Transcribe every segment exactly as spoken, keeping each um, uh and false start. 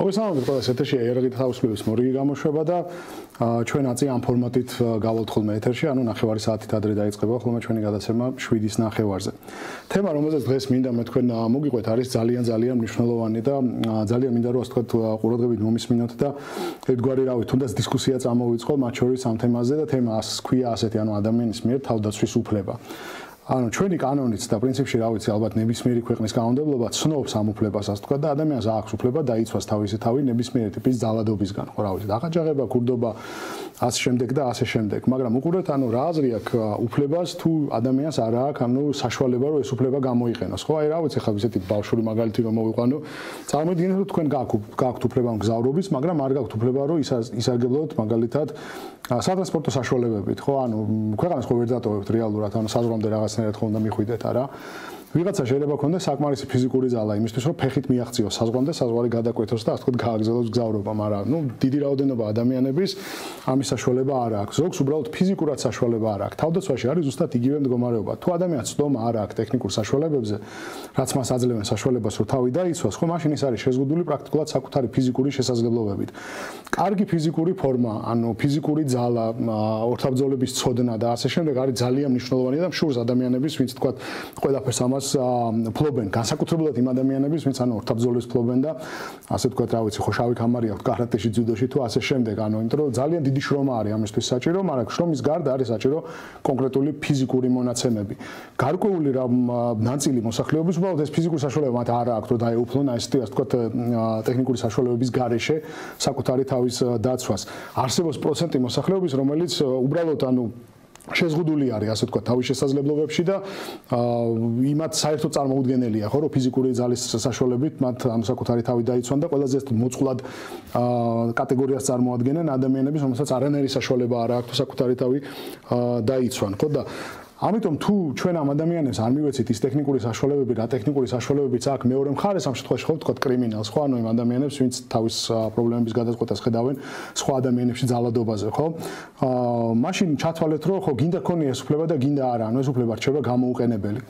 მოგესალმებით ყველას ეთერში იარაღით თავისუფლების მორიგი გამოშვება და ჩვენ აწი ამ ფორმატით გავალთ ხოლმე ეთერში, ანუ ნახევარი საათით ადრე დაიწყება ხოლმე ჩვენი გადაცემა შვიდის ნახევარზე. თემა, რომელზეც დღეს მინდა მე თქვენ მოგიყვეთ, არის ძალიან ძალიან მნიშვნელოვანი და ძალიან მინდა რომ ასე ვთქვათ ყურადღებით მომისმინოთ და ერთგვარი რავი, თუნდაც დისკუსია წამოვიწყო მათ შორის ამ თემაზე და თემა ასე ქვია ასეთი, ანუ ადამიანის მიერ თავდაცვის უფლება. ანუ ჩვენი კანონიც და პრინციპში რა ვიცი ალბათ ნებისმიერი ქვეყნის კანონმდებლობა ცნობს ამ უფლებას ასე თქვა და ადამიანს აქვს უფლება დაიცვას თავისი თავი ნებისმიერი ტიპის ძალადობისგან, ხო რა ვიცი, დახაჯაღება, ქურდობა, ასე შემდეგ და ასე შემდეგ. მაგრამ უყურეთ, ანუ რა აზრი აქვს უფლებას თუ ადამიანს არ აქვს ანუ საშუალება რომ ეს უფლება გამოიყენოს, ხო? აი რა ვიცი, ხა ისეთი ბავშვური მაგალითი რომ მოვიყვანო, წარმოვიდგინეთ რომ თქვენ გაქვთ უფლება მგზავრობის, მაგრამ არ გაქვთ უფლება რომ ისარგებლოთ მაგალითად სატრანსპორტო საშუალებებით, ხო? ანუ ქვეყანას ხო ვერ დატოვებთ რეალურად, ანუ საზღვრამდე რაღაცნაირად ხო უნდა მიხვიდეთ, არა? ვიღაცა შეიძლება ქონდეს საკმარისი ფიზიკური ძალა იმისთვის, რომ ფეხით მიაღწიოს საზღვამდე, საზღვარი გადაკვეთოს და ასე ვთქვათ გააგრძელოს გზავრობა, მაგრამ ნუ დიდი რაოდენობა ადამიანების ამის საშუალება არ აქვს. ზოგს უბრალოდ ფიზიკურად საშუალება არ აქვს. თავდაცვაში არის ზუსტად იგივე მდგომარეობა. თუ ადამიანს ცდომა არ აქვს ტექნიკურ საშუალებებზე, რაც მას აძლევენ საშუალებას, რომ თავი დაიცვას, ხო, მაშინ ის არის შეზღუდული პრაქტიკულად საკუთარი ფიზიკური შესაძლებლობებით. კარგი ფიზიკური ფორმა, ანუ ფიზიკური ძალა, ორთაბრძოლების ცოდნა და ასე შემდეგ არის ძალიან მნიშვნელოვანი და მშურს ადამიანების, ვინც თქვათ, ყველაფერს ამას ფლობენ, განსაკუთრებულად იმ ადამიანების, ვინც ანუ ორთაბრძოლებს ფლობენ და ასე ვთქვათ, რა ვიცი, ხო შავი ქამარი აქვს კარატეში, ძუდოში თუ ასე შემდეგ, ანუ იმიტომ რომ ძალიან დიდი შრომა არის ამისთვის საჭირო, მაგრამ შრომის გარდა არის საჭირო კონკრეტული ფიზიკური მონაცემები. გარკვეული რა ნაწილი მოსახლეობის უბრალოდ ეს ფიზიკური საშუალება მათ არ აქვს, რომ დაეუფლონ აი ესეთი ასე ვთქვათ ტექნიკური საშუალებების გარეშე საკუთარი თავის დაცვას. არსებობს პროცენტი მოსახლეობის, რომელიც უბრალოდ ანუ შეზღუდული არის ასე ვთქვათ თავის შესაძლებლობებში და იმათ საერთოდ წარმოუდგენელია ხო რომ ფიზიკური ძალის საშუალებით მათ ამ საკუთარი თავი დაიცვან და ყველაზე მოწყვლად კატეგორიას წარმოადგენენ ადამიანების, რომელსაც არანაირი საშუალება არ აქვს საკუთარი თავი დაიცვან, ხო და ამიტომ თუ ჩვენ ამ ადამიანებს არ მივეცით ის ტექნიკური საშუალებები, რა ტექნიკური საშუალებებიც აქვს მეორე მხარეს ამ შემთხვევაში ხო ვთქვათ კრიმინალს, ხო ანუ იმ ადამიანებს, ვინც თავის პრობლემების გადაწყვეტას ხედავენ სხვა ადამიანებში ძალადობაზე, ხო? აა მაშინ ჩათვალეთ, რომ ხო გინდა ქონია ეს უფლება და გინდა არა, ანუ ეს უფლება რჩება გამოუყენებელი.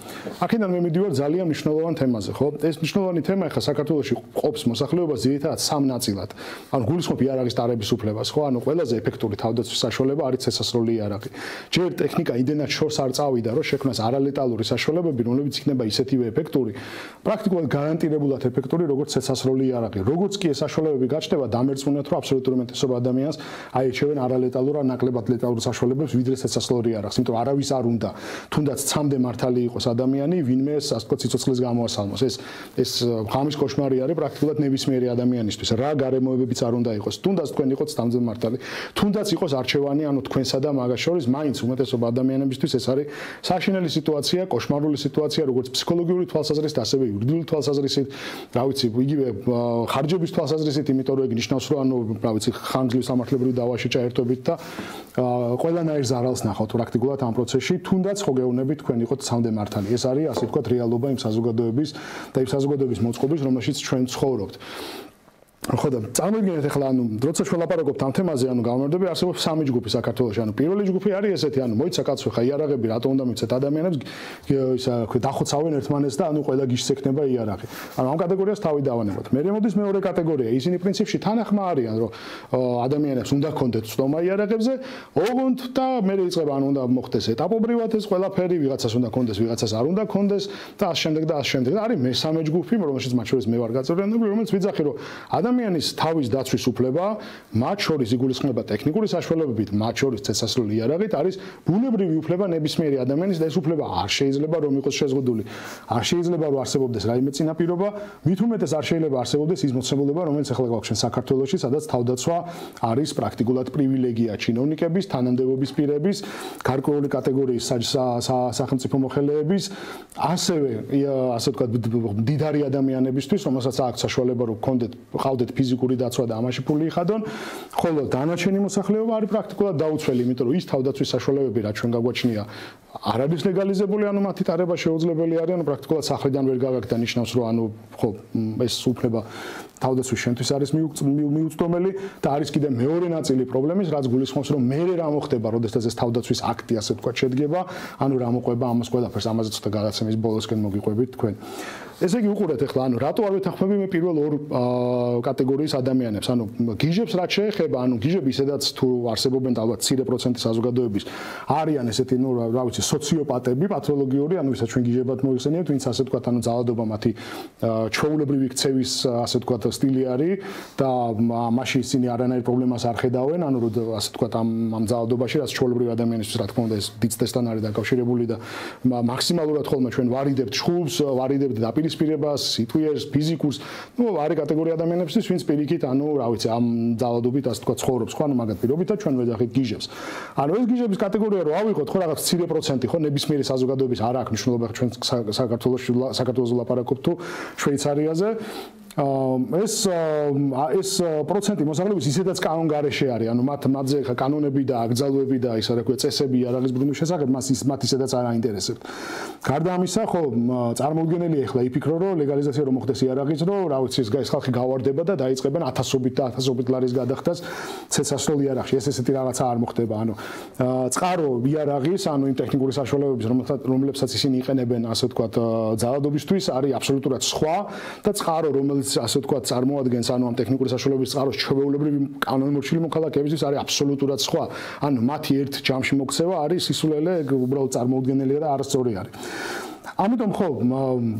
აქედან მე მიდივარ ძალიან მნიშვნელოვან თემაზე, ხო? ეს მნიშვნელოვანი თემა ახლა საქართველოში ყოფს მოსახლეობას ძირითადად სამ ნაწილად. ანუ გულისხმობ იარაღის დარების უფლებას, ხო? ანუ ყველაზე ეფექტური თავდაცვის საშუალება არის ცეცხლსასროლი იარაღი. ჯერ ტექნიკა იმდენად შორს არ წავიდა, რომ შექმნას არალეტალური საშუალებები, რომლებიც იქნება ისეთივე ეფექტური, პრაქტიკულად გარანტირებულად ეფექტური, როგორც ცეცხლსასროლი იარაღი. როგორც კი ეს საშუალებები გაჩნდება, დამერწმუნეთ, რომ აბსოლუტური უმეტესობა ადამიანს აირჩევენ არალეტალურ ან ნაკლებად ლეტალურ საშუალებებს, ვიდრე ცეცხლსასროლი იარაღს, იმიტომ რომ არავის არ უნდა, თუნდაც ცამდე მართალი იყოს ადამიანი, ვინმე ასე ვთქვათ სიცოცხლის გამოასალმოს. ეს ეს ღამის კოშმარი არის პრაქტიკულად ნებისმიერი ადამიანისთვის. რა გარემოებებიც არ უნდა იყოს, თუნდაც თქვენ იყოთ ცამდე მართალი, თუნდაც იყოს არჩევანი, ანუ თქვენსა და მაგას შორის, მაინც უმეტესობა ადამიანებისთვის ეს არის საშინელი სიტუაცია, კოშმარული სიტუაცია, როგორც ფსიქოლოგიური თვალსაზრისით, ასევე იურიდიული თვალსაზრისით, რა ვიცი, იგივე ხარჯების თვალსაზრისით, იმიტომ რომ ეგ ნიშნავს, რომ ანუ, რა ვიცი, ხანგრძლივ სამართლებრივ დავაში ჭაერთობით და ყველანაირ ზარალს ნახავთ პრაქტიკულად ამ პროცესში, თუნდაც ხო გეუბნებით თქვენ იყოთ ცამდე მართალი. ეს არის ასე ვთქვათ რეალობა იმ საზოგადოების და იმ საზოგადოების მოწყობის, რომელშიც ჩვენ ცხოვრობთ. ხო და წარმოგიდგენთ ახლა ანუ როცა ჩვენ ლაპარაკობთ ამ თემაზე, ანუ გამომდინარე არსებობს სამი ჯგუფი საქართველოში, ანუ პირველი ჯგუფი არის ესეთი, ანუ მოიცა კაცო ხა იარაღები რატო უნდა მიცეთ ადამიანებს ისა ქვე დახოცავენ ერთმანეთს და ანუ ყველა გიშს ექნება იარაღი. ანუ ამ კატეგორიას თავი დავანებოთ. მე მოდის მეორე კატეგორია, ისინი პრინციპში თანახმა არიან, რომ ადამიანებს უნდა ქონდეთ ცდომა იარაღებზე, ოღონდ და მე იწყება ანუ უნდა მოხდეს ეტაპობრივად ეს ყველაფერი, ვიღაცას უნდა ქონდეს, ვიღაცას არ უნდა ქონდეს და ამ შემდეგ და ამ შემდეგ. არის მესამე ჯგუფი, რომელშიც მათ შორის მე ვარ გაწევრიანებული, რომელიც ვიძახი, რომ ადამიანის თავის დაცვის უფლება, მათ შორის იგულისხმება ტექნიკური საშუალებებით, მათ შორის ცეცხლსასროლი იარაღით, არის ბუნებრივი უფლება ნებისმიერი ადამიანის და ეს უფლება არ შეიძლება რომ იყოს შეზღუდული. არ შეიძლება რომ არსებობდეს რაიმე წინაპირობა, მით უმეტეს არ შეიძლება არსებობდეს ის მოცემულობა, რომელიც ახლა გვაქვს ჩვენ საქართველოში, სადაც თავდაცვა არის პრაქტიკულად პრივილეგია ჩინოვნიკების, თანამდებობის პირების, გარკვეული კატეგორიის სახელმწიფო მოხელეების, ასევე ასე ვთქვათ მდიდარი ადამიანებისთვის, რომელსაც აქვს საშუალება რომ გქონდეთ ყავდეთ ფიზიკური დაცვა და ამაში ფული იხადონ, ხოლო დანარჩენი მოსახლეობა არის პრაქტიკულად დაუცველი, იმიტომ რომ ის თავდაცვის საშუალებები, რაც ჩვენ გაგვაჩნია არ არის ლეგალიზებული, ანუ მათი ტარება შეუძლებელი არის, ანუ პრაქტიკულად სახლიდან ვერ გავაკეთე და ნიშნავს, რომ ანუ ხო ეს უფლება თავდაცვის შენთვის არის მიუწვდომელი და არის კიდე მეორე ნაწილი პრობლემის, რაც გულისხმობს, რომ მე რა მოხდება, როდესაც ეს თავდაცვის აქტი ასე ვთქვათ შედგება, ანუ რა მოყვება ამას ყველაფერს, ამაზე ცოტა გადაცემის ბოლოსკენ მოგიყვებით თქვენ. ესე იგი უყურეთ ახლა, ანუ რატო არ ვეთანხმები მე პირველ ორ კატეგორიის ადამიანებს, ანუ გიჟებს რაც შეეხება, ანუ გიჟები ისედაც თუ არსებობენ ალბათ მცირე პროცენტი საზოგადოების არიან ესეთი, ნუ რა ვიცი, სოციოპატები, პათოლოგიური, ანუ ვისაც ჩვენ გიჟებად მოიხსენიებთ, ვინც ასე ვთქვათ, ანუ ძალადობა მათი ჩვეულებრივი ქცევის ასე ვთქვათ სტილი არის და მაშინ ისინი არანაირ პრობლემას არ ხედავენ, ანუ რომ ასე ვთქვათ ამ ამ ძალადობაში, რაც ჩვეულებრივი ადამიანისთვის რა თქმა უნდა ეს დიცესთან არის დაკავშირებული და მაქსიმალურად ხოლმე ჩვენ ვარიდებთ შხულს, ვარიდებთ დაპირისპირებას, სიტყვიერს, ფიზიკურს, ნუ არის კატეგორია ადამიანებისთვის, ვინც პირიქით, ანუ რა ვიცი, ამ ძალადობით ასე ვთქვათ ცხოვრობს, ხო, ანუ მაგათ პირობითად ჩვენ ვეძახით გიჟებს. ანუ ეს გიჟების კატეგორია რო ავიღოთ, ხო, რაღაც მცირე პროცენტი, ხო, ნებისმიერი საზოგადოების არ აქვს მნიშვნელობა, ჩვენ საქართველოს საქართველოს ვლაპარაკობთ თუ შვეიცარიაზე. ეს ეს პროცენტი მოსახლეობის ისედაც კანონგარეშე არის, ანუ მათ მათზე ხა კანონები და აკრძალვები და ისა რა ქვია წესები იარაღის ბრუნვის შესახებ მას ის მათ ისედაც არ აინტერესებთ. გარდა ამისა, ხო, წარმოუდგენელია ახლა იფიქრო, რომ ლეგალიზაცია რომ მოხდეს იარაღის, რომ რა ვიცი, ეს ხალხი გავარდება და დაიწყებენ ათასობით და ათასობით ლარის გადახდას ცეცასროლ იარაღში. ეს ესეთი რაღაცა არ მოხდება, ანუ წყარო იარაღის, ანუ იმ ტექნიკური საშუალებების, რომლებსაც ისინი იყენებენ, ასე ვთქვათ, ძალადობისთვის, არის აბსოლუტურად სხვა და წყარო, რომელიც ასე ვთქვათ, წარმოადგენს ანუ ამ ტექნიკური საშუალებების წყაროს ჩვეულებრივი კანონმორჩილი მოქალაქეებისთვის არის აბსოლუტურად სხვა. ანუ მათი ერთ ჯამში მოქცევა არის სისულელე, უბრალოდ წარმოუდგენელია და არასწორი არის. ამიტომ ხო,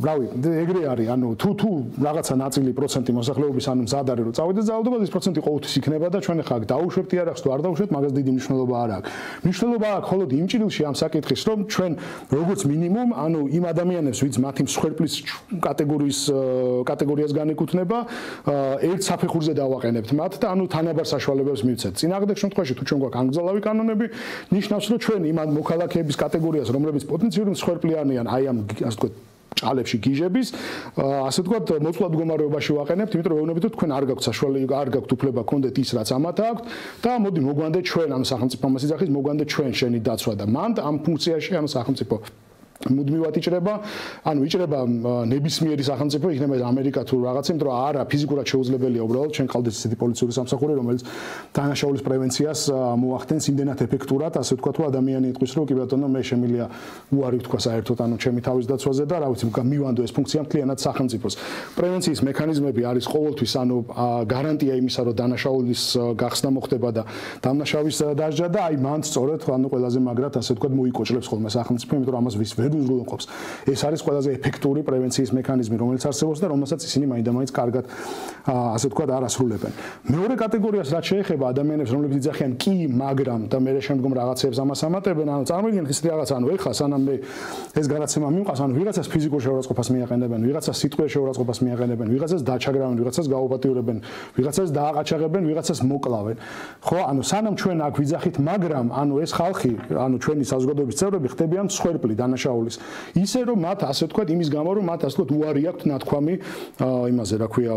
რავი, ეგრე არის, ანუ თუ თუ რაღაცა ნაწილი პროცენტი მოსახლეობის ანუ მზად არის რომ წავიდეს ძალადობაზე, ეს პროცენტი ყოველთვის იქნება და ჩვენ ახლა დაუშვებთ იარაღს თუ არ დაუშვებთ, მაგას დიდი მნიშვნელობა არ აქვს. მნიშვნელობა აქვს მხოლოდ იმ ჭრილში ამ საკითხის, რომ ჩვენ როგორც მინიმუმ, ანუ იმ ადამიანებს, ვინც მათი მსხვერპლის კატეგორიის კატეგორიას განეკუთვნება, ერთ საფეხურზე დავაყენებთ მათ და ანუ თანაბარ საშუალებებს მივცეთ. წინააღმდეგ შემთხვევაში თუ ჩვენ გვაქვს ანგზალავი კანონები, ნიშნავს რომ ჩვენ იმ მოქალაქეების კატეგორიას, რომლებიც პოტენციური მსხვერპლი არიან, აი ამ ასე ვთქვათ ჭალებში გიჟების, ასე ვთქვათ, მოწყვლად მდგომარეობაში ვაყენებთ, იმიტომ რომ ვეუბნებით, თქვენ არ გაქვთ საშუალება, არ გაქვთ უფლება გქონდეთ ის, რაც ამათ აქვთ და მოდი მოგვანდეთ ჩვენ, ანუ სახელმწიფო ამას იძახის, მოგვანდეთ ჩვენ შენი დაცვა და მანდ ამ ფუნქციაში, ანუ სახელმწიფო მუდმივად იჭრება, ანუ იჭრება ნებისმიერი სახელმწიფო, იქნება ეს ამერიკა თუ რაღაცა, იმიტომ რომ არა ფიზიკურად შეუძლებელია უბრალოდ ჩვენ ყავდეს ისეთი პოლიციური სამსახური, რომელიც დანაშაულის პრევენციას მოახდენს იმდენად ეფექტურად, ასე ვთქვათ, რომ ადამიანი იტყვის, რომ კი ბატონო, მე შემიძლია უარი ვთქვა საერთოდ, ანუ ჩემი თავის დაცვაზე და რა ვიცი, მივანდო ეს ფუნქცია მთლიანად სახელმწიფოს. პრევენციის მექანიზმები არის ყოველთვის, ანუ გარანტია იმისა, რომ დანაშაულის გახსნა მოხდება და დამნაშავის დასჯა და აი მანდ სწორედ, ანუ ყველაზე მაგრად, ასე ვთქვათ, მოიკოჭლებს ხოლმე სახელმწიფო, იმიტომ რომ ამას ვის უზრუნველყოფს. ეს არის ყველაზე ეფექტური პრევენციის მექანიზმი, რომელიც არსებობს და რომელსაც ისინი მაინდა-მაინც კარგად ასე ვთქვათ არ ასრულებენ. მეორე კატეგორიას რაც შეეხება ადამიანებს, რომლებიც იძახიან კი, მაგრამ და მე შემდგომ რაღაცებს ამას ამატებენ, ანუ წარმოიდგინეთ ისეთი რაღაცა, ანუ ეხლა სანამ მე ეს გადაცემა მივყავს, ანუ ვიღაცას ფიზიკურ შეურაცხყოფას მიაყენებენ, ვიღაცას სიტყვის შეურაცხყოფას მიაყენებენ, ვიღაცას დაჩაგრავენ, ვიღაცას გაუპატიურებენ, ვიღაცას დააყაჩაღებენ, ვიღაცას მოკლავენ. ხო, ანუ სანამ ჩვენ აქ ვიძახით, მაგრამ ანუ ეს ხალხი, ანუ ჩვენი საზოგადოების წევრები ხდებიან მსხვერპლი დანაშაული ისე რომ მათ ასე ვთქვათ იმის გამო რომ მათ ასე ვთქვათ უარი აქვთ ნათქვამი იმაზე რა ქვია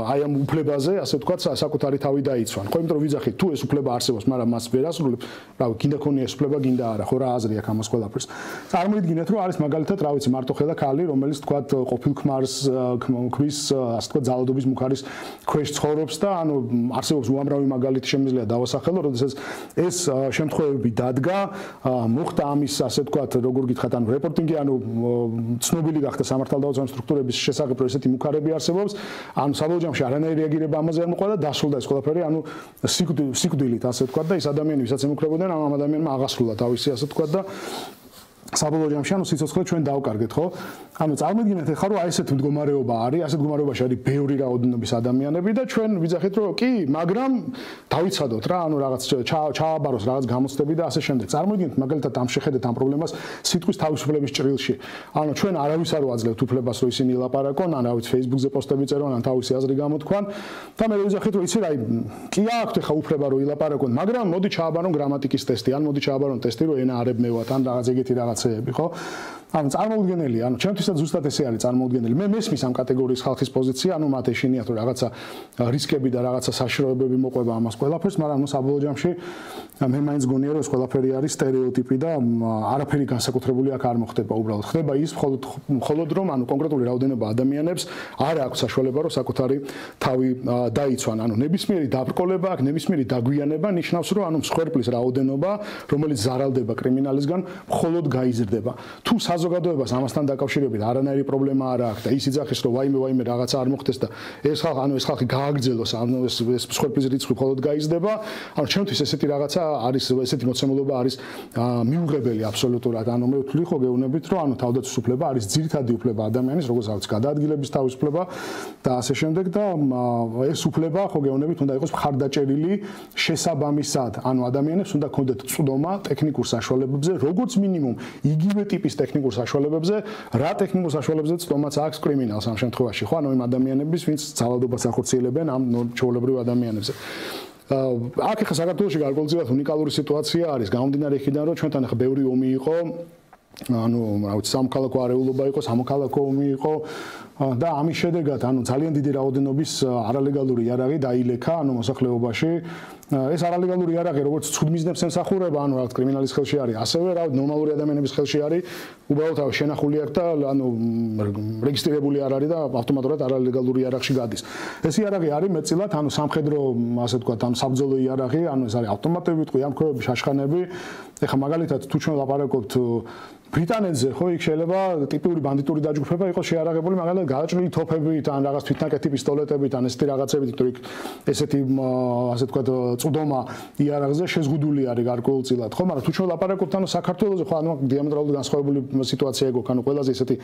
აი ამ უფლებაზე ასე ვთქვათ საკუთარი თავი დაიცვან ხო იმიტომ რომ ვიძახით თუ ეს უფლება არსებობს მაგრამ მას ვერ ასრულებს რავი გინდა ქონია ეს უფლება გინდა არა ხო რა აზრი აქვს ამას ყველაფერს წარმოიდგინეთ რომ არის მაგალითად რა ვიცი მარტოხელა ქალი რომელიც ვთქვათ ყოფილ ქმარს ქმრის ასე ვთქვათ ძალადობის მუქარის ქვეშ ცხოვრობს და ანუ არსებობს უამრავი მაგალითი შემიძლია დავასახელო როდესაც ეს შემთხვევები დადგა მოხდა ამის ასე ვთქვათ როგორ გითხრათ ანუ რეპორტინგი ანუ ცნობილი გახდა სამართალდაუცემ სტრუქტურების შესახებ რომ ესეთი მუქარები არსებობს ანუ საბოლოო ჯამში არანაირი რეაგირება ამაზე არ მოყვა და დასრულდა ეს ყველაფერი ანუ სიკვდილით ასე ვთქვათ და ეს ადამიანი ვისაც ემუქრებოდნენ ამ ადამიანმა აღასრულა თავისი ასე ვთქვათ და საბოლოო ჯამში ანუ სიცოცხლე ჩვენ დავკარგეთ ხო ანუ წარმოიდგინეთ ახლა რომ აი ესეთ მდგომარეობა არის ასეთ მდგომარეობაში არის ბევრი რაოდენობის ადამიანები და ჩვენ ვიძახით რომ კი მაგრამ დავიცადოთ რა ანუ რაღაც ჩააბაროს რაღაც გამოცდები და ასე შემდეგ წარმოიდგინეთ მაგალითად ამ შეხედეთ ამ პრობლემას სიტყვის თავისუფლების ჭრილში ანუ ჩვენ არავის არ ვაძლევთ უფლებას რომ ისინი ლაპარაკონ ან რა ვიცი Facebook-ზე პოსტები წერონ ან თავისი აზრი გამოთქვან და მე ვიძახით რომ იცი რა კი აქვთ ახლა უფლება რომ ილაპარაკონ მაგრამ მოდი ჩააბარონ გრამატიკის ტესტი ან მოდი ჩააბარონ ტესტი რომ ენა არ ებმევათ ან რაღაც ეგეთი რაღაც ხო ანუ წარმოუდგენელი, ანუ ჩემთვისაც ზუსტად ესე არის წარმოუდგენელი. მე მესმის ამ კატეგორიის ხალხის პოზიცია, ანუ მათ ეშინიათ რომ რაღაცა რისკები და რაღაცა საშიშროებები მოყვება ამას ყველაფერს, მაგრამ ნუ საბოლოო ჯამში მე მაინც გონია რომ ეს ყველაფერი არის სტერეოტიპი და არაფერი განსაკუთრებული აქ არ მოხდება უბრალოდ. ხდება ის მხოლოდ მხოლოდ რომ ანუ კონკრეტული რაოდენობა ადამიანებს არ აქვს საშუალება რომ საკუთარი თავი დაიცვან. ანუ ნებისმიერი დაბრკოლება აქ, ნებისმიერი დაგვიანება ნიშნავს რომ ანუ მსხვერპლის რაოდენობა, რომელიც ზარალდება კრიმინალისგან, მხოლოდ გაიზრდება. თუ საზოგადოებას ამასთან დაკავშირებით არანაირი პრობლემა არ აქვს და ის იძახის რომ ვაიმე ვაიმე რაღაცა არ მოხდეს და ეს ხალხი ანუ ეს ხალხი გააგრძელოს, ანუ ეს ეს მსხვერპლის რიცხვი მხოლოდ გაიზრდება, ანუ ჩემთვის ესეთი რაღაცა არის ესეთი მოცემულობა არის მიუღებელი აბსოლუტურად. ანუ მე ვთვლი ხო გეუბნებით რომ ანუ თავდაცვის უფლება არის ძირითადი უფლება ადამიანის, როგორც არის გადაადგილების თავისუფლება და ასე შემდეგ და ეს უფლება ხო გეუბნებით უნდა იყოს მხარდაჭერილი შესაბამისად. ანუ ადამიანებს უნდა ქონდეთ წვდომა ტექნიკურ საშუალებებზე, როგორც მინიმუმ იგივე ტიპის ტექნიკურ საშუალებებზე, რა ტექნიკურ საშუალებებზე წვდომაც აქვს კრიმინალს ამ შემთხვევაში, ხო? ანუ იმ ადამიანების, ვინც ძალადობას ახორციელებენ ამ ჩვეულებრივ ადამიანებზე. აქ ახლა საქართველოში გარკვეულწილად უნიკალური სიტუაცია არის, გამომდინარე იქიდან, რომ ჩვენთან ახლა ბევრი ომი იყო, ანუ რა ვიცი, სამოქალაქო არეულობა იყო, სამოქალაქო ომი იყო და ამის შედეგად, ანუ ძალიან დიდი რაოდენობის არალეგალური იარაღი დაილექა, ანუ მოსახლეობაში. ეს არალეგალური იარაღი როგორც ცუდმიზნებს ემსახურება, ანუ რაღაც კრიმინალის ხელში არის, ასევე რა ნორმალური ადამიანების ხელში არის, უბრალოდ შენახული აქვს და ანუ რეგისტრირებული არ არის და ავტომატურად არალეგალური იარაღში გადის. ეს იარაღი არის მეტწილად, ანუ სამხედრო, ასე ვთქვათ, ანუ საბრძოლო იარაღი, ანუ ეს არის ავტომატები, ვიტყვი, ამქრობები, შაშხანები. ეხლა მაგალითად თუ ჩვენ ლაპარაკობთ ბრიტანეთზე, ხო, იქ შეიძლება ტიპური ბანდიტური დაჯგუფება იყოს შეარაღებული მაგალითად გადაჭრილი თოფებით, ან რაღაც თვითნაკეთი პისტოლეტებით, ან ესეთი რაღაცებით, იმიტომ რომ ესეთი ასე ვთქვათ წვდომა იარაღზე შეზღუდული არის გარკვეულწილად, ხო, მაგრამ თუ ჩვენ ლაპარაკობთ ანუ საქართველოზე, ხო, ანუ დიამეტრალურად განსხვავებული სიტუაცია ეგ აქვს, ანუ ყველაზე ესეთი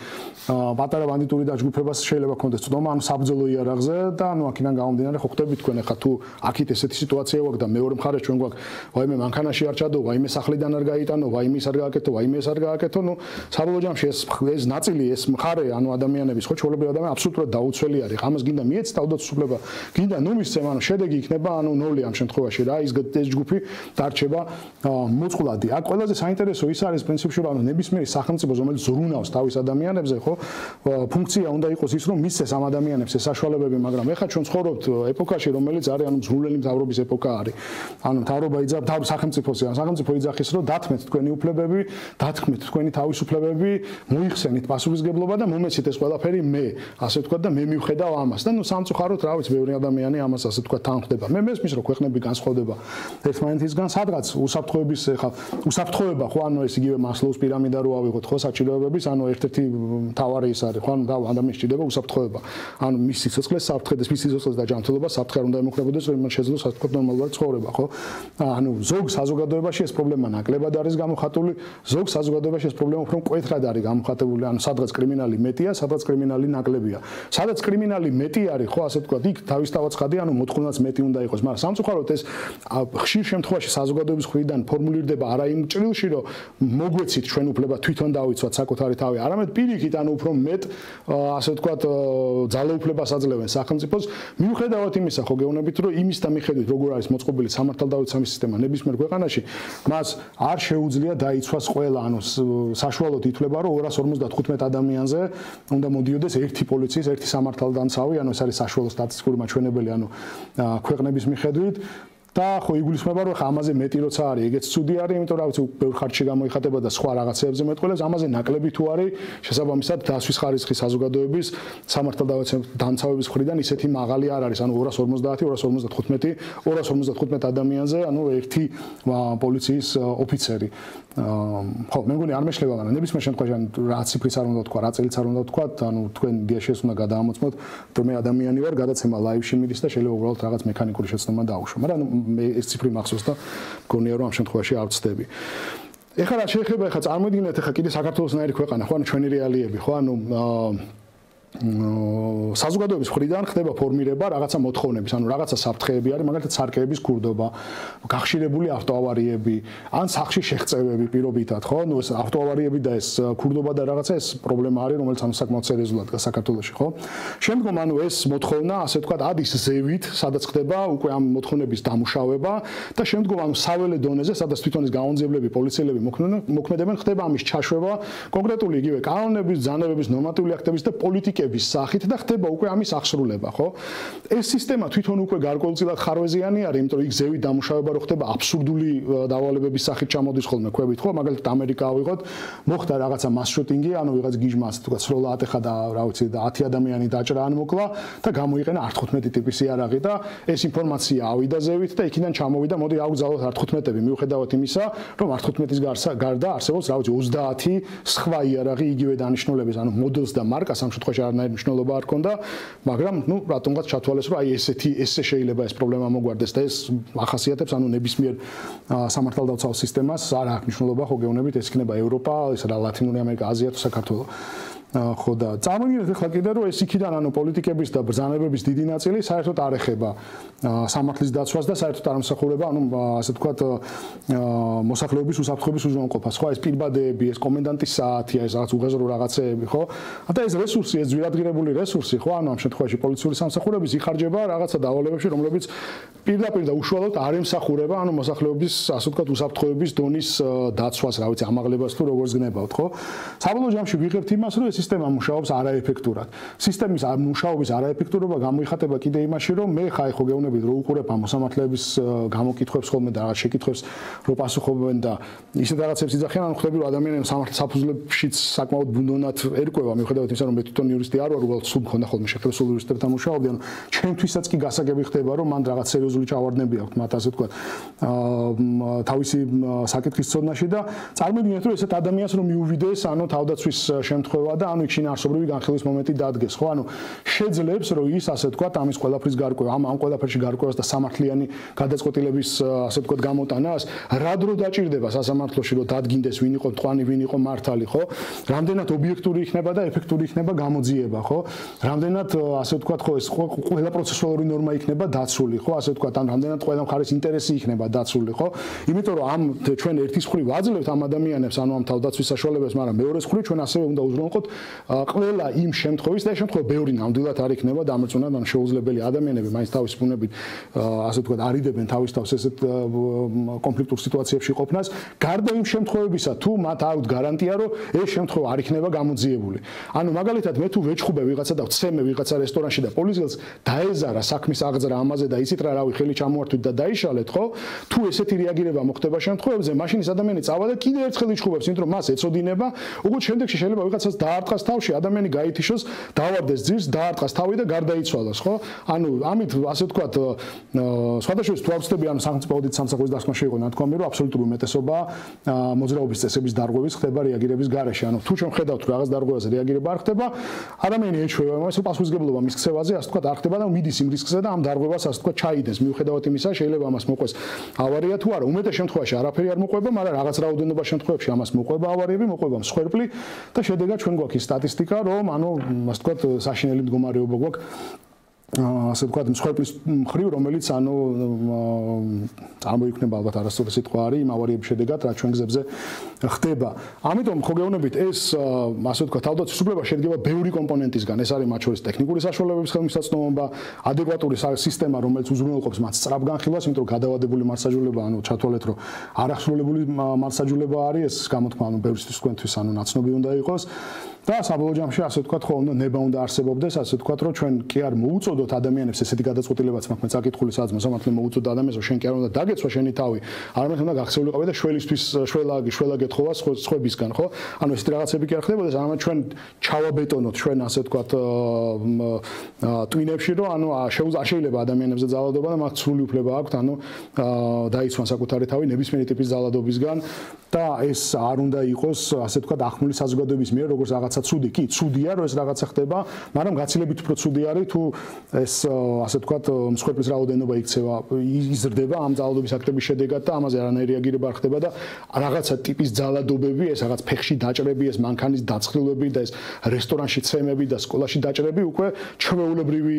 პატარა ბანდიტური დაჯგუფებას შეიძლება ქონდეს წვდომა, ანუ საბრძოლო იარაღზე და ანუ აქედან გამომდინარე ხო ხდები თქვენ ახლა თუ აქეთ ესეთი სიტუაცია გვაქვს და მეორე მხარეს ჩვენ გვაქვს ვაიმე მანქანაში არ ჩადო, ვაიმე სახლიდან არ გაიტანო, ვაიმე ის არ გააკეთო, ვაიმე ეს არ გააკეთო, ნუ საბოლოო ჯამში ეს ეს ნაწილი, ეს მხარე, ანუ ადამიანების, ხო, ჩვეულებრივი ადამიანი აბსოლუტურად დაუცველი არის. ამას გინდა მიეც თავდაცვის უფლება, გინდა ნუ მისცემ, ანუ შედეგი იქნება ანუ ნული ამ შემთხვევაში რა, ის ეს ჯგუფი დარჩება მოწყვლადი. აქ ყველაზე საინტერესო ის არის პრინციპში, რომ ანუ ნებისმიერი სახელმწიფო, რომელიც ზრუნავს თავის ადამიანებზე, ხო, ფუნქცია უნდა იყოს ის, რომ მისცეს ამ ადამიანებს ეს საშუალებები, მაგრამ ეხლა ჩვენ ცხოვრობთ ეპოქაში, რომელიც არის ანუ ზრუნველი მთავრობის ეპოქა არის. ანუ მთავრობა იძახს სახელმწიფოს, სახელმწიფო იძახის, რომ დათმეთ თქვენი უფლებები, დათქმეთ თქვენი თავისუფლებები, მოიხსენით პასუხისგებლობა და მომეცით ეს ყველაფერი მე, ასე ვთქვათ და მე მივხედავ ამას და ნუ სამწუხაროდ რა ვიცი, ბევრი ადამიანი ამას ასე ვთქვათ თანხდება. მე მესმის რომ ქვეყნები განსხვავდება ერთმანეთისგან, სადღაც უსაფრთხოების ხა უსაფრთხოება ხო, ანუ ეს იგივე მასლოუს პირამიდა რო ავიღოთ ხო, საჭიროებების, ანუ ერთ-ერთი მთავარი ის არის ხო, ანუ ადამიანს ჭირდება უსაფრთხოება. ანუ მის სიცოცხლეს საფრთხეს, მის სიცოცხლეს და ჯანმრთელობას საფრთხე არ უნდა ემუქრებოდეს, რომ იმან შეძლოს ასე ვთქვათ ნორმალურად ცხოვრება, ხო? ანუ ზოგ საზოგადოებაში ეს პრობლემა ნაკლებად არის გამოხატული, ზოგ საზოგადოებაში ეს პრობლემა უფრო მკვეთრად არის გამოხატებული, ანუ სადღაც კრიმინალი მეტია, სადღაც კრიმინალი ნაკლებია. სადაც კრიმინალი მეტი არის, ხო, ასე ვთქვათ, იქ თავისთავად ხადი, ანუ მოთხოვნაც მეტი უნდა იყოს, მაგრამ სამწუხაროდ ეს ხშირ შემთხვევაში საზოგადოების მხრიდან ფორმულირდება არა იმ ჭრილში, რომ მოგვეცით ჩვენ უფლება თვითონ დავიცვათ საკუთარი თავი, არამედ პირიქით, ანუ უფრო მეტ, ასე ვთქვათ, ძალაუფლებას აძლევენ სახელმწიფოს, მიუხედავად იმისა, ხო, გეუბნებით, რომ იმის და მიხედვით, როგორ არის მოწყობილი სამართალდამცავი სისტემა ნებისმიერ ქვეყანაში, მას არ შეუძლია დაიცვას ყველა, ანუ საშუალოდ ითვლება, რომ ორას ორმოცდათხუთმეტ ადამიანზე უნდა მოდიოდეს ერთი პოლიციის, ერთი სამართალდამცავი, ანუ ეს არის საშუალო სტატისტიკური მაჩვენებელი, ანუ ქვეყნების მიხედვით. და ხო იგულისხმება რომ ამაზე მეტი როცა არის, ეგეც ცუდი არის, იმიტომ რომ ვიცი ბევრ ხარჯში გამოიხატება და სხვა რაღაცეებზე მეტყველებს, ამაზე ნაკლები თუ არის, შესაბამისად დასვის ხარისხი საზოგადოების სამართალდამცავების მხრიდან ისეთი მაღალი არ არის, ანუ ორას ორმოცდაათი, ორას ორმოცდათხუთმეტი, ორას ორმოცდათხუთმეტ ადამიანზე, ანუ ერთი პოლიციის ოფიცერი. ხო, მე მგონი არ მეშლება, მაგრამ ნებისმიერ შემთხვევაში რა ციფრიც არ უნდა თქვა, რა წელიც არ უნდა თქვა, ანუ თქვენ დიაშეს უნდა გადაამოწმოთ, რომ მე ადამიანი ვარ, გადაცემა ლაივში მიდის და შეიძლება უბრალოდ რაღაც მექანიკური შეცდომა დაუშვო, მაგრამ მე ეს ციფრი მახსოვს და მგონია რომ ამ შემთხვევაში არ ვწდები. ეხლა რა შეიძლება ეხლა წარმოიდგინეთ ეხლა კიდე საქართველოსნაირი ქვეყანა, ხო, ანუ ჩვენი რეალიები, ხო, ანუ საზოგადოების მხრიდან ხდება ფორმირება რაღაცა მოთხოვნების, ანუ რაღაცა საფრთხეები არის, მაგალითად სარკეების ქურდობა, გახშირებული ავტოავარიები, ან სახში შეღწევები პირობითად, ხო? ნუ ეს ავტოავარიები და ეს ქურდობა და რაღაცა ეს პრობლემა არის, რომელიც ანუ საკმაოდ სერიოზულად დგას საქართველოში, ხო? შემდგომ ანუ ეს მოთხოვნა, ასე ვთქვათ, ადის ზევით, სადაც ხდება უკვე ამ მოთხოვნების დამუშავება და შემდგომ ანუ საველე დონეზე, სადაც თვითონ ეს გამონძიებლები, პოლიციელები მოქმედებენ, ხდება ამის ჩაშვება კონკრეტული იგივე კანონების, ბრძანებების, ნორმატიული აქტების და პოლიტიკების სახით და ხდება უკვე ამის აღსრულება, ხო? ეს სისტემა თვითონ უკვე გარკვეულწილად ხარვეზიანი არის, იმიტომ რომ იქ ზევით დამუშავება რო ხდება აბსურდული დავალებების სახით ჩამოდის ხოლმე ქვევით, ხო? მაგალითად ამერიკა ავიღოთ, მოხდა რაღაცა მას შუტინგი, ანუ ვიღაც გიჟმა ასე თქვა სროლა ატეხა და რა ვიცი და ათი ადამიანი დაჭრა ან მოკლა და გამოიყენა არ თხუთმეტი ტიპის იარაღი და ეს ინფორმაცია ავიდა ზევით და იქიდან ჩამოვიდა, მოდი ავგზავნოთ არ თხუთმეტები, მიუხედავად იმისა, რომ არ თხუთმეტის გარდა არსებობს რა ვიცი ოცდაათი სხვა იარაღი იგივე დანიშნულების, ანუ მოდელს და მარკას ამ შემთხვევაში არანაირი მნიშვნელობა არ ქონდა, მაგრამ ნუ რატომღაც ჩათვალეს, რომ აი ესეთი ესე შეიძლება ეს პრობლემა მოგვარდეს და ეს ახასიათებს ანუ ნებისმიერ სამართალდაცვალ სისტემას არ აქვს მნიშვნელობა, ხო გეუბნებით, ეს იქნება ევროპა, ის რა ლათინური ამერიკა, აზია თუ საქართველო. ხო და წარმოგიდგენთ ახლა კიდე რომ ეს იქიდან ანუ პოლიტიკების და ბრძანებების დიდი ნაწილი საერთოდ არ ეხება სამართლის დაცვას და საერთოდ არ ამსახურება ანუ ასე ვთქვათ მოსახლეობის უსაფრთხოების უზრუნველყოფას ხო ეს პირბადეები ეს კომენდანტის საათი ეს რაღაც უღეზრო რაღაცეები ხო და ეს რესურსი ეს ძვირადღირებული რესურსი ხო ანუ ამ შემთხვევაში პოლიციური სამსახურების იხარჯება რაღაცა დავალებებში რომლებიც პირდაპირ და უშუალოდ არ ემსახურება ანუ მოსახლეობის ასე ვთქვათ უსაფრთხოების დონის დაცვას რა ვიცი ამაღლებას თუ როგორც გნებავთ ხო საბოლოო ჯამში ვიღებთ იმას რომ სისტემა მუშაობს არაეფექტურად. სისტემის მუშაობის არაეფექტურობა გამოიხატება კიდე იმაში, რომ მე ხაი ხო გეუბნებით, რომ უყურებ ამ მოსამართლეების გამოკითხვებს ხოლმე და რაღაც შეკითხვებს რო პასუხობენ და ისეთ რაღაცებს იძახიან, ანუ ხვდები რომ ადამიანები სამართლის საფუძვლებშიც საკმაოდ ბუნდოვნად ერკვევა, მიუხედავად იმისა, რომ მე თვითონ იურისტი არ ვარ, უბრალოდ სულ მქონდა ხოლმე შეხედვა სულ იურისტებთან მუშაობდი, ანუ ჩემთვისაც კი გასაგები ხდება, რომ მან რაღაც სერიოზული ჩავარდნები აქვს, მათ ასე ვთქვათ, თავისი საკითხის ცოდნაში და წარმოგიდგენთ, რომ ესეთ ადამიანს რომ მიუვიდეს, ანუ თავდაცვის შემთხვევა და ანუ იქ შინაარსობრივი განხილვის მომენტი დადგეს, ხო? ანუ შეძლებს, რომ ის ასე ვთქვათ, ამის ყველაფრის გარკვევა, ამ ამ ყველაფერში გარკვევას და სამართლიანი გადაწყვეტილების ასე ვთქვათ გამოტანას, რა დრო დაჭირდება სასამართლოში, რომ დადგინდეს, ვინ იყო მტყვანი, ვინ იყო მართალი, ხო? რამდენად ობიექტური იქნება და ეფექტური იქნება გამოძიება, ხო? რამდენად ასე ვთქვათ, ხო, ეს ყველა პროცესუალური ნორმა იქნება დაცული, ხო? ასე ვთქვათ, ან რამდენად ყველა მხარის ინტერესი იქნება დაცული, ხო? იმიტომ რომ ამ ჩვენ ერთის მხრივ ვაძლევთ ამ ადამიანებს, ანუ ამ თავდაცვის საშუალებებს, მაგრამ მეორეს მხრივ ჩვენ ასევე უნდა უზრუნველყოთ ყველა იმ შემთხვევის და შემთხვევა ბევრი ნამდვილად არ იქნება დამრწმუნებულად ან შეუძლებელი ადამიანები მაინც თავის ბუნებით ასე ვთქვათ არიდებენ თავის თავს ესეთ კონფლიქტურ სიტუაციებში ყოფნას გარდა იმ შემთხვევებისა თუ მათ აქვთ გარანტია რომ ეს შემთხვევა არ იქნება გამოძიებული ანუ მაგალითად მე თუ ვეჭხუბე ვიღაცა და ვცემე ვიღაცა რესტორანში და პოლიციელს დაეზარა საქმის აღძრა ამაზე და იცით რა რავი ხელი ჩამოართვით და დაიშალეთ ხო თუ ესეთი რეაგირება მოხდება შემთხვევებზე მაშინ ეს ადამიანი წავა და კიდევ ერთხელ იჩხუბებს იმიტომ რომ მას ეწოდინება უგულ შემდეგში შეიძლება ვიღაცას დაარტყას თავში ადამიანი გაითიშოს დავარდეს ძირს დაარტყას თავი და გარდაიცვალოს ხო ანუ ამით ასე ვთქვათ სხვადასხვა სიტუაციები ანუ სახელმწიფო აუდიტ სამსახურის დასკვნაში იყო ნათქვამი რომ აბსოლუტური უმეტესობა მოძრაობის წესების დარღვევის ხდება რეაგირების გარეშე ანუ თუ ჩვენ ხედავთ რომ რაღაც დარღვევაზე რეაგირება არ ხდება ადამიანი ეჩვევა იმას რომ პასუხისმგებლობა მის ქცევაზე ასე ვთქვათ არ ხდება და მიდის იმ რისკზე და ამ დარღვევას ასე ვთქვათ ჩაიდენს მიუხედავად იმისა შეიძლება ამას მოყვეს ავარია თუ არა უმეტეს შემთხვევაში არაფერი არ მოყვება მაგრამ რაღაც რაოდენობა შემთხვევებში ამას მოყვება ავარიები მოყვება მსხვერპლი და შედეგად ჩვენ გვაქვს სტატისტიკა რომ ანუ ასე ვთქვათ საშინელი მდგომარეობა გვაქვს ასე ვთქვათ მსხვერპლის მხრივ რომელიც ანუ წარმოიქმნება ალბათ არასწორი სიტყვა არის იმ ავარიების შედეგად რაც ჩვენ გზებზე ხდება ამიტომ ხო გეუბნებით ეს ასე ვთქვათ თავდაცვის უფლება შედგება ბევრი კომპონენტისგან ეს არის მათ შორის ტექნიკური საშუალებების ხელმისაწვდომობა ადეკვატური სისტემა რომელიც უზრუნველყოფს მათ სწრაფ განხილვას იმიტომ რომ გადავადებული მარსაჯულება ანუ ჩათვალეთ რომ არახსრულებული მარსაჯულება არის ეს გამოთქმა ანუ ბევრისთვის თქვენთვის ანუ ნაცნობი უნდა იყოს და საბოლოო ჯამში ასე ვთქვათ ხო უნდა ნება უნდა არსებობდეს ასე ვთქვათ რომ ჩვენ კი არ მოუწოდოთ ადამიანებს ესეთი გადაწყვეტილებაც მაქვს მე წაკითხული სადაც მოსამართლე მოუწოდა ადამიანს რომ შენ კი არ უნდა დაგეცვა შენი თავი არამედ უნდა გახსეულიყავი და შველისთვის შველაგი შველა გეთხოვა სხვებისგან ხო ანუ ესეთი რაღაცები კი არ ხდებოდეს არამედ ჩვენ ჩავაბეტონოთ ჩვენ ასე ვთქვათ ტვინებში რომ ანუ შეიძლება ადამიანებზე ძალადობა და მათ სრული უფლება აქვთ ანუ დაიცვან საკუთარი თავი ნებისმიერი ტიპის ძალადობისგან და ეს არ უნდა იყოს ასე ვთქვათ ახმული საზოგადოების მიერ როგორც რაღაცა ცუდი, კი, ცუდია, რომ ეს რაღაცა ხდება, მაგრამ გაცილებით უფრო ცუდი არის თუ ეს ასე ვთქვათ, მსხვერპლის რაოდენობა იქცევა, იზრდება ამ ძალადობის აქტების შედეგად და ამაზე არანაირი რეაგირება არ ხდება და რაღაცა ტიპის ძალადობები, ეს რაღაც ფეხში დაჭრები, ეს მანქანის დაწყვილები და ეს რესტორანში ცემები და სკოლაში დაჭრები უკვე ჩვეულებრივი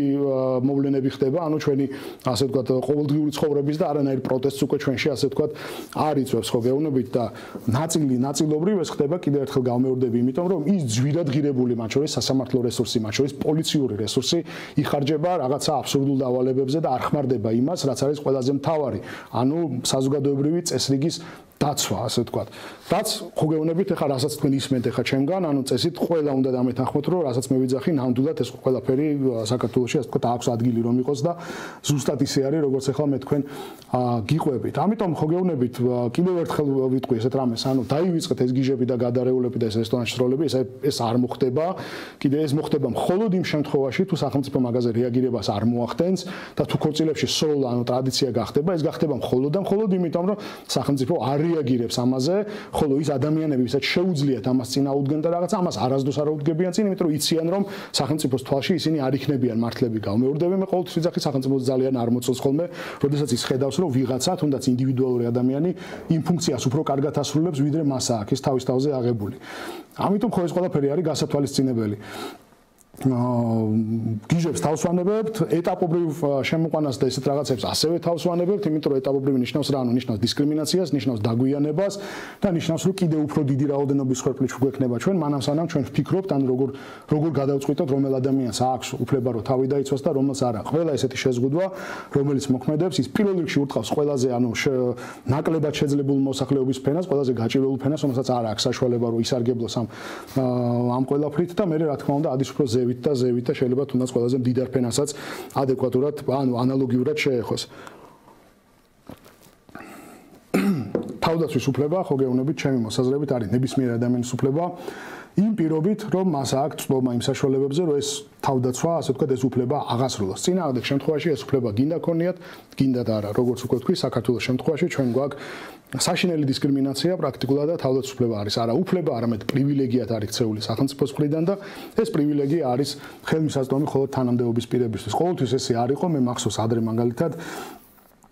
მოვლენები ხდება, ანუ ჩვენი ასე ვთქვათ, ყოველდღიური ცხოვრების და არანაირი პროტესტს უკვე ჩვენში ასე ვთქვათ, არ იწვევს ხო გეუბნებით და ნაწილი ნაწილობრივ ეს ხდება კიდევ ერთხელ გავმეორდები, იმიტომ რომ ის ძვირადღირებული მათ შორის სასამართლო რესურსი, მათ შორის პოლიციური რესურსი იხარჯება რაღაცა აბსურდულ დავალებებზე და არ ხმარდება იმას, რაც არის ყველაზე მთავარი, ანუ საზოგადოებრივი წესრიგის დაცვა, ასე ვთქვათ. რაც ხო გეუბნებით, ეხლა რასაც თქვენ ისმენთ ეხლა ჩემგან, ანუ წესით ყველა უნდა დამეთანხმოთ, რომ რასაც მე ვიძახი, ნამდვილად ეს ყველაფერი საქართველოში ასე ვთქვათ, აქვს ადგილი რომ იყოს და ზუსტად ისე არის, როგორც ეხლა მე თქვენ გიყვებით. ამიტომ ხო გეუბნებით, კიდევ ერთხელ ვიტყვი ესეთ რამეს, ანუ დაივიწყეთ ეს გიჟები და გადარეულები და ეს რესტორანში სროლები, ეს ეს არ მოხდება. კიდე ეს მოხდება მხოლოდ იმ შემთხვევაში, თუ სახელმწიფო მაგაზე რეაგირებას არ მოახდენს და თუ ქორწილებში სროლა, ანუ ტრადიცია გახდება, ეს გახდება მხოლოდ და მხოლოდ იმიტომ, რომ სახელმწიფო არ რეაგირებს ამაზე, ხოლო ის ადამიანები, ვისაც შეუძლიათ ამას წინაუდგენ და რაღაც ამას არასდროს არ აუდგებიან წინ, იმიტომ რომ იციან, რომ სახელმწიფოს თვალში ისინი არ იქნებიან მართლები. გავმეორდები, მე ყოველთვის ვიძახი, სახელმწიფოს ძალიან არ მოწონს ხოლმე, როდესაც ის ხედავს, რომ ვიღაცა, თუნდაც ინდივიდუალური ადამიანი იმ ფუნქციას უფრო კარგად ასრულებს, ვიდრე მასა აქვს ის თავის თავზე აღებული. ამიტომ ხო ეს ყველაფერი არის გასათვალისწინებელი. გიჟებს თავს ვანებებთ, ეტაპობრივ შემოყვანას და ესეთ რაღაცებს ასევე თავს ვანებებთ, იმიტომ რომ ეტაპობრივი ნიშნავს რა, ანუ ნიშნავს დისკრიმინაციას, ნიშნავს დაგვიანებას და ნიშნავს, რომ კიდევ უფრო დიდი რაოდენობის მსხვერპლი გვექნება ჩვენ, მანამ სანამ ჩვენ ვფიქრობთ, ანუ როგორ როგორ გადავწყვიტოთ, რომელ ადამიანს აქვს უფლება რომ თავი დაიცვას და რომელს არა. ყველა ესეთი შეზღუდვა, რომელიც მოქმედებს, ის პირველ რიგში ურტყავს ყველაზე, ანუ ნაკლებად შეძლებულ მოსახლეობის ფენას, ყველაზე გაჭირვებულ ფენას, რომელსაც არ აქვს საშუალება რომ ისარგებლოს ამ ამ ყველაფრით და მე რა თქმა უნდა ადის უფრო ზევით და ზევით და შეიძლება თუნდაც ყველაზე მდიდარ ფენასაც ადეკვატურად, ანუ ანალოგიურად შეეხოს. თავდაცვის უფლება, ხო გეუბნებით, ჩემი მოსაზრებით არის ნებისმიერ ადამიანის უფლება. იმ პირობით, რომ მას აქვს წვდომა იმ საშუალებებზე, რომ ეს თავდაცვა, ასე ვთქვათ, ეს უფლება აღასრულოს. წინააღმდეგ შემთხვევაში ეს უფლება გინდა ქონიათ, გინდა და არა, როგორც უკვე ვთქვი, საქართველოს შემთხვევაში ჩვენ გვაქვს საშინელი დისკრიმინაცია პრაქტიკულად და თავდაცვის უფლება არის არა უფლება, არამედ პრივილეგიად არის ქცეული სახელმწიფოს მხრიდან და ეს პრივილეგია არის ხელმისაწვდომი მხოლოდ თანამდებობის პირებისთვის. ყოველთვის ესე არ იყო, მე მახსოვს ადრე მაგალითად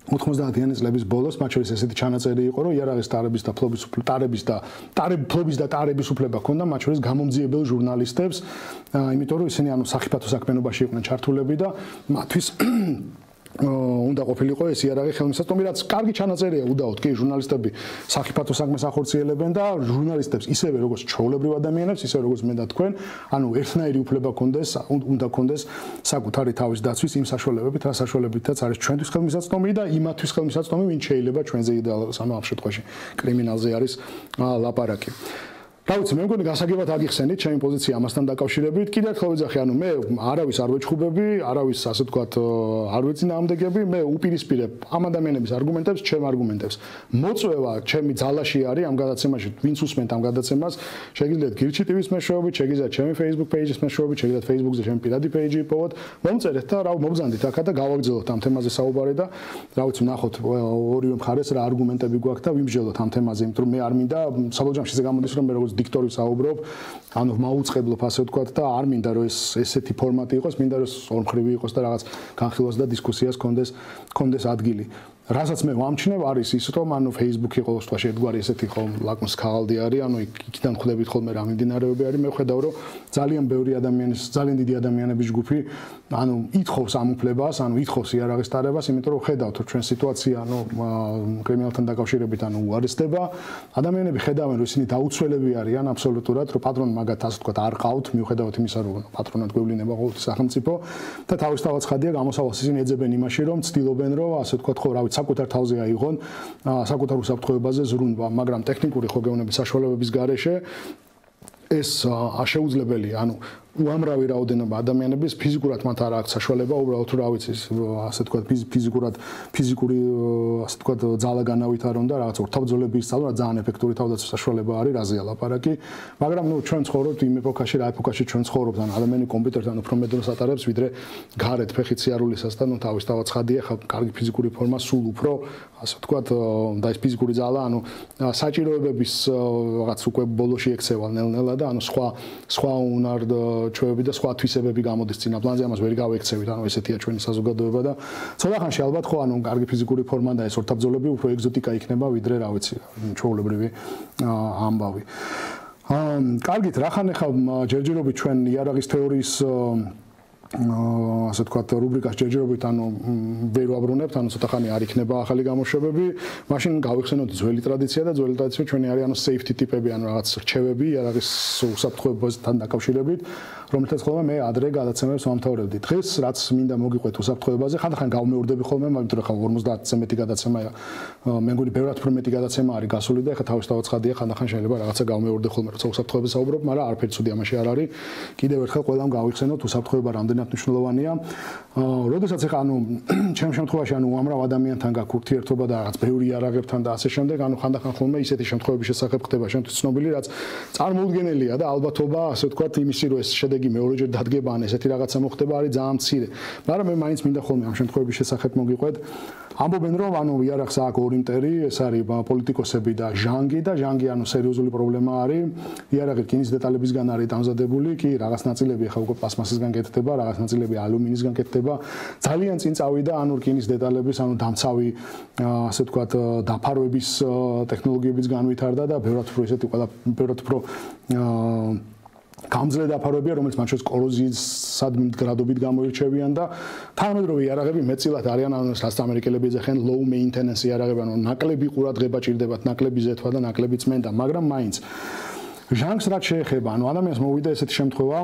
ოთხმოცდაათიანი წლების ბოლოს, მათ შორის ესეთი ჩანაწერი იყო, რომ იარაღის ტარების და ფლობის ტარების და ტარების და ტარების უფლება ჰქონდა მათ შორის გამომძიებელ ჟურნალისტებს, იმიტომ რომ ისინი ანუ სახიფათო საქმიანობაში იყვნენ ჩართულები და მათთვის უნდა ყოფილიყო ეს იარაღი ხელმისაწვდომი, რაც კარგი ჩანაწერია უდაოდ, კი, ჟურნალისტები სახიფათო საქმეს ახორციელებენ და ჟურნალისტებს ისევე როგორც ჩვეულებრივ ადამიანებს, ისევე როგორც მე და თქვენ, ანუ ერთნაირი უფლება ჰქონდეს, უნდა ჰქონდეს საკუთარი თავის დაცვის იმ საშუალებებით, რა საშუალებითაც არის ჩვენთვის ხელმისაწვდომი და იმათთვის ხელმისაწვდომი, ვინც შეიძლება ჩვენზე იდეალურს, ანუ ამ შემთხვევაში კრიმინალზე არის ლაპარაკი. რა ვიცი, მე მგონი გასაგებად აგიხსენით ჩემი პოზიცია ამასთან დაკავშირებით. კიდევ ერთხელ ვიძახი, ანუ მე არავის არ ვეჩხუბები, არავის ასე ვთქვათ, არ ვეწინააღმდეგები, მე უპირისპირებ ამ ადამიანების არგუმენტებს, ჩემ არგუმენტებს. მოწვევა ჩემი ძალაში არის ამ გადაცემაში, ვინც უსმენთ ამ გადაცემას, შეგიძლიათ გირჩი ტივის მეშვეობით, შეგიძლიათ ჩემი Facebook page-ის მეშვეობით, შეგიძლიათ Facebook-ზე ჩემი პირადი page-ი იპოვოთ, მომწერეთ და რა მობრძანდით აქა და გავაგრძელოთ ამ თემაზე საუბარი და რა ვიცი, ნახოთ ორივე მხარეს რა არგუმენტები გვაქვს და ვიმსჯელოთ ამ თემაზე, იმიტომ რომ მე არ მინდა საბოლოო ჯამში ისე გამოდის, რომ მე როგორც დიქტორი საუბრობ, ანუ მაუწყებლობ ასე ვთქვათ და არ მინდა რომ ეს ესეთი ფორმატი იყოს, მინდა რომ ორმხრივი იყოს და რაღაც განხილვას და დისკუსიას კონდეს კონდეს ადგილი. რასაც მე ვამჩნევ არის ის, რომ ანუ Facebook-ი ყოველ შემთხვევაში ერთგვარი ესეთი ხომ ლაკმუს ქაღალდი არის, ანუ იქიდან ხვდებით ხოლმე რა მიმდინარეობები არის, მე ვხედავ რომ ძალიან ბევრი ადამიანის, ძალიან დიდი ადამიანების ჯგუფი ანუ ითხოვს ამ უფლებას, ანუ ითხოვს იარაღის ტარებას, იმიტომ რომ ხედავთ რომ ჩვენ სიტუაცია ანუ კრიმინალთან დაკავშირებით ანუ უარესდება, ადამიანები ხედავენ რომ ისინი დაუცველები არიან აბსოლუტურად, რომ პატრონი მაგათ ასე ვთქვათ არ ყავთ, მიუხედავად იმისა რომ პატრონად გვევლინება ყოველთვის სახელმწიფო და თავისთავად ხადია გამოსავალს ისინი ეძებენ იმაში რომ ცდილობენ რომ ასე ვთქვათ ხო რა ვიცი საკუთარ თავზე აიღონ საკუთარ უსაფრთხოებაზე ზრუნვა, მაგრამ ტექნიკური ხო გეუბნების საშუალებების გარეშე ეს შეუძლებელია, ანუ უამრავი რაოდენობა ადამიანების ფიზიკურად მათ არ აქვს საშუალება უბრალოდ რა ვიცი ასე თქვა ფიზიკურად ფიზიკური ასე თქვა ძალაგანავით არ უნდა რაღაც ორთავბრძოლების სწავლა ძალიან ეფექტური თავდაცვის საშუალება არის რაზეა ლაპარაკი მაგრამ ნუ ჩვენ ცხოვრობთ იმ ეპოქაში რა ეპოქაში ჩვენ ცხოვრობთ ან ადამიანი კომპიუტერთან უფრო მეტ დროს ატარებს ვიდრე გარეთ ფეხით სიარულისას და ნუ თავის თავად ცხადია ხა კარგი ფიზიკური ფორმა სულ უფრო ასე თქვა და ეს ფიზიკური ძალა ანუ საჭიროებების რაღაც უკვე ბოლოში ექცევა ნელ-ნელა და ანუ სხვა სხვა უნარ ჩვევები და სხვა თვისებები გამოდის წინა პლანზე ამას ვერ გავექცევით ანუ ესეთია ჩვენი საზოგადოება და ცოტა ხანში ალბათ ხო ანუ კარგი ფიზიკური ფორმა და ეს ორთავბრძოლები უფრო ეგზოტიკა იქნება ვიდრე რა ვიცი ჩვეულებრივი ამბავი აა კარგით რახან ახლა ჯერჯერობით ჩვენ იარაღის თეორიის ასე თქვა რუბრიკას ჯერჯერობით ანუ ვერ ვაბრუნებთ ანუ ცოტა ხანი არ იქნება ახალი გამოშვებები მაშინ გავიხსენოთ ძველი ტრადიცია და ძველი ტრადიცია ჩვენი არის ანუ safety ტიპები ანუ რაღაც რჩევები იარაღის უსაფრთხოებასთან დაკავშირებით რომელთაც ხოლმე მე ადრე გადაცემებს ვამთავრებდი დღეს რაც მინდა მოგიყვეთ უსაფრთხოებაზე ხანდახან გავმეორდები ხოლმე მაგრამ ხა ორმოცდაათზე მეტი გადაცემა მე მგონი ბევრად უფრო მეტი გადაცემა არის გასული და ხა თავისთავად ცხადია ხანდახან შეიძლება რაღაცა გავმეორდე ხოლმე როცა უსაფრთხოებაზე საუბრობ მაგრამ არაფერი ცუდი ამაში არ არის კიდევ ერთხელ ყველამ გავიხსენოთ უსაფრთხოება რამდენად მნიშვნელოვანია როდესაც ხა ანუ ჩემ შემთხვევაში ანუ უამრავ ადამიანთან გაქვს ურთიერთობა და რაღაც ბევრი იარაღებთან და ასე შემდეგ ანუ ხანდახან ხოლმე ისეთი შემთხვევების შესახებ ხდება შემთხვევით ცნობილი რაც წარმოუდგენელია და ალბათობა ასე ვთქვათ იმისი რომ ეს შედეგი მეორეჯერ დადგება ან ესეთი რაღაცა მოხდება არის ძალიან მცირე მაგრამ მე მაინც მინდა ხოლმე ამ შემთხვევების შესახებ მოგიყვეთ ამბობენ რომ ანუ იარაღს აქვს ორი მტერი ეს არის პოლიტიკოსები და ჟანგი და ჟანგი ანუ სერიოზული პრობლემა არის იარაღი რკინის დეტალებისგან არის დამზადებული კი რაღაც ნაწილები ხა უკვე პლასმასისგან კეთდება რაღაც ნაწილები ალუმინისგან კეთდება ძალიან წინ წავიდა ანუ რკინის დეტალების ანუ დამცავი ასე ვთქვათ დაფარვების ტექნოლოგიებიც განვითარდა და ბევრად უფრო ესეთი ყველა ბევრად უფრო გამძლე დაფარვებია რომელიც მათ შორის კოროზიის სადგრადობით გამოირჩევიან და თანამედროვე იარაღები მეტწილად არიან ანუ რაც ამერიკელები ეძახიან low maintenance იარაღები ანუ ნაკლები ყურადღება ჭირდებათ ნაკლები ზეთვა და ნაკლები წმენდა მაგრამ მაინც ჟანგს რაც შეეხება ანუ ადამიანს მოვიდა ესეთი შემთხვევა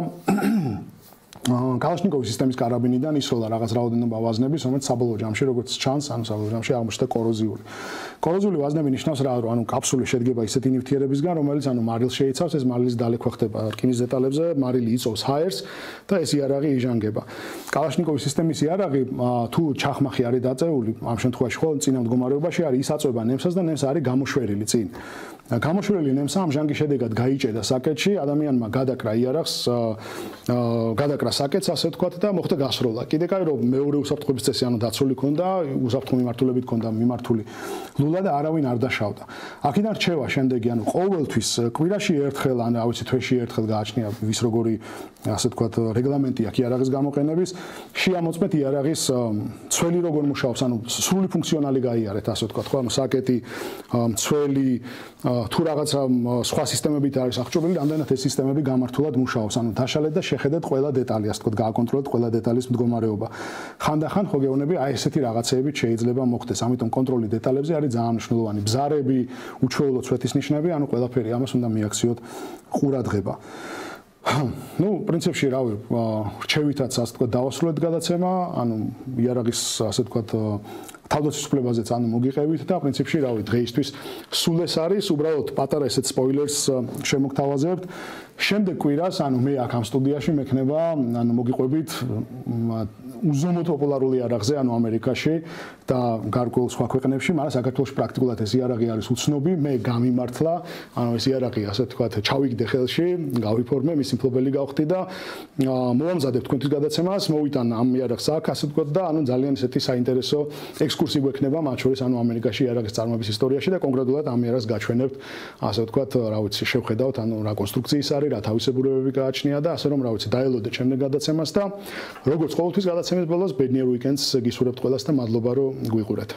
კალაშნიკოვის სისტემის კარაბინიდან ისროლა რაღაც რაოდენობა ვაზნების, რომელიც საბოლოო ჯამში როგორც ჩანს, ანუ საბოლოო ჯამში აღმოჩნდა კოროზიული. კოროზიული ვაზნები ნიშნავს რა, რომ ანუ კაფსული შედგება ისეთი ნივთიერებისგან, რომელიც ანუ მარილს შეიცავს, ეს მარილის დალექვა ხდება რკინის დეტალებზე, მარილი იწოვს ჰაერს და ეს იარაღი იჟანგება. კალაშნიკოვის სისტემის იარაღი თუ ჩახმახი არის დაწეული, ამ შემთხვევაში ხო წინა მდგომარეობაში არის ის აწვება ნემსას და ნემსა არის გამოშვერილი წინ. გამოშვერილი ნემსა ამ ჟანგის შედეგად გაიჭედა საკეთში, ადამიანმა გადაკრა იარაღს, გადაკრა საკეთს ასე ვთქვათ და მოხდა გასროლა. კიდე კაი რომ მეორე უსაფრთხოების წესი ანუ დაცული ქონდა, უსაფრთხო მიმართულებით ქონდა მიმართული ლულა და არავინ არ დაშავდა. აქედან რჩევა შემდეგი, ანუ ყოველთვის კვირაში ერთხელ ან რა ვიცი თვეში ერთხელ გააჩნია ვის როგორი ასე ვთქვათ რეგლამენტი აქვს იარაღის გამოყენების, შეამოწმეთ იარაღის ცველი როგორ მუშაობს, ანუ სრული ფუნქციონალი გაიარეთ ასე ვთქვათ, ხო, ანუ საკეთი, ცველი თუ რაღაცა სხვა სისტემებით არის აღჭურვილი, რამდენად ეს სისტემები გამართულად მუშაობს, ანუ დაშალეთ და შეხედეთ ყველა დეტალი, ასე ვთქვათ, გააკონტროლეთ ყველა დეტალის მდგომარეობა. ხანდახან ხო გეუბნები, აი ესეთი რაღაცეებით შეიძლება მოხდეს, ამიტომ კონტროლი დეტალებზე არის ძალიან მნიშვნელოვანი. ბზარები, უჩვეულო ცვეთის ნიშნები, ანუ ყველაფერი ამას უნდა მიაქციოთ ყურადღება. ну, პრინციპში რავი, რჩევითაც ასე ვთქვათ, დავასრულეთ გადაცემა, ანუ იარაღის ასე ვთქვათ თავდაცვის უფლებაზეც ანუ მოგიყევით და პრინციპში რავი, დღეისთვის სულ ეს არის, უბრალოდ პატარა ესეთ სპოილერს შემოგთავაზებთ. შემდეგ კვირას, ანუ მე აქ ამ სტუდიაში მექნება, ანუ მოგიყვებით უზომოდ პოპულარული იარაღზე, ანუ ამერიკაში და გარკვეულ სხვა ქვეყნებში, მაგრამ საქართველოში პრაქტიკულად ეს იარაღი არის უცნობი, მე გამიმართლა, ანუ ეს იარაღი ასე ვთქვათ, ჩავიგდე ხელში, გავიფორმე, მისი მფლობელი გავხდი და მოვამზადებ თქვენთვის გადაცემას, მოვიტან ამ იარაღს აქ, ასე ვთქვათ და ანუ ძალიან ესეთი საინტერესო ექსკურსი გვექნება, მათ შორის ანუ ამერიკაში იარაღის წარმოების ისტორიაში და კონკრეტულად ამ იარაღს გაჩვენებთ, ასე ვთქვათ, რა ვიცი, შევხედავთ, ანუ რა კონსტრუქციის არის, რა თავისებურებები გააჩნია და ასე რომ რა ვიცი, დაელოდეთ შემდეგ გადაცემას და როგორც ყოველთვის გადაცემის ბოლოს ბედნიერ უიკენდს გისურვებთ ყველას და მადლობა რომ გვიყურეთ.